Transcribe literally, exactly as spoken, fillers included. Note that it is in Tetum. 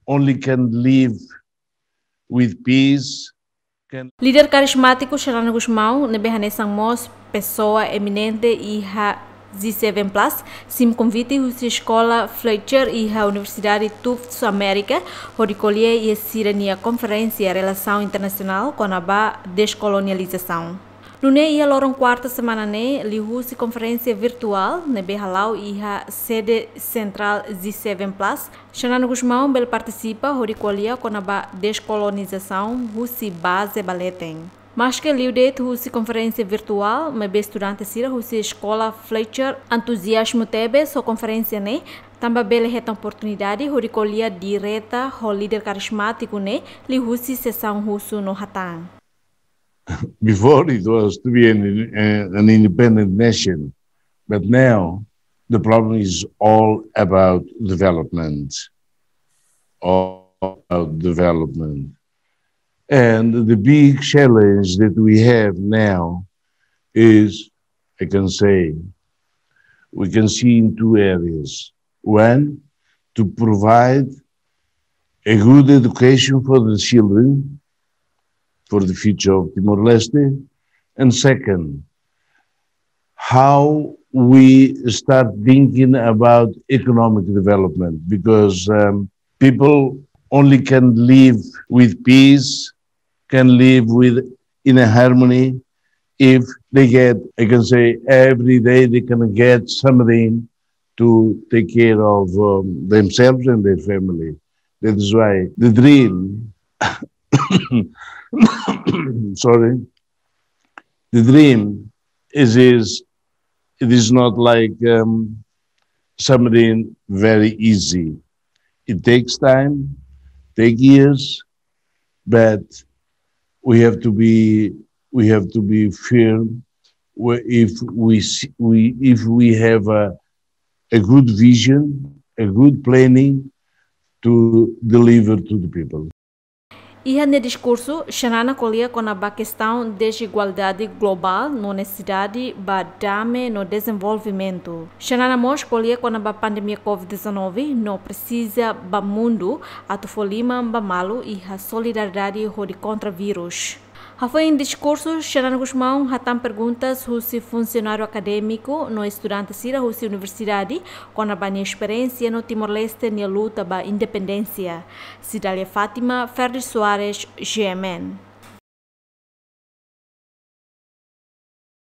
only can live with peace, can... Líder karizmátiku Xanana Gusmão, ne'ebé hanesan mós pesoa eminente iha G seven plus, simu konvite husi Eskola Fletcher iha Universidade Tufts Amérika, hodi ko'alia iha sira-nia konferénsia relasaun internasionál kona-ba deskolonizasaun. Nune'e iha loron kuarta semana ne'e, liuhusi konferénsia virtuál ne'ebé hala'o iha sede sentrál G seven plus, Xanana Gusmão bele partisipa hodi ko'alia kona-ba deskolonizasaun husi baze ba leten. Maske liu de'it husi konferénsia virtuál, maibé estudante sira husi Eskola Fletcher entuziazmu tebes ho konferénsia ne'e, tanba bele hetan oportunidade hodi ko'alia direta ho líder karizmátiku ne'e liuhusi sesaun husu no hatán. Before it was to be an, an independent nation, but now the problem is all about development, all about development. And the big challenge that we have now is, I can say, we can see in two areas. One, to provide a good education for the children, for the future of Timor-Leste. And second, how we start thinking about economic development, because, um, people only can live with peace, can live with, in a harmony, if they get, I can say, every day they can get something to take care of, um, themselves and their family. That is why the dream, sorry, the dream is, is, it is not like, um, something very easy. It takes time, take years, but we have to be, we have to be firm. Where if we s-, we, if we have a, a good vision, a good planning to deliver to the people. Iha nia diskursu, Xanana ko'alia kona-ba kestaun dezigualdade globál no nesesidade ba dame no dezenvolvimentu. Xanana mós ko'alia kona-ba pandemia covid dezanove no presiza ba mundu atu fó liman ba malu iha solidariedade hodi kontra vírus. Hafoin diskursu, Xanana Gusmão hatán perguntas husi funsionáriu akadémiku no estudante sira husi universidade kona-ba nia esperiénsia no Timor-Leste nia luta ba independénsia. Cidália Fátima, Ferdi Soares, G M N.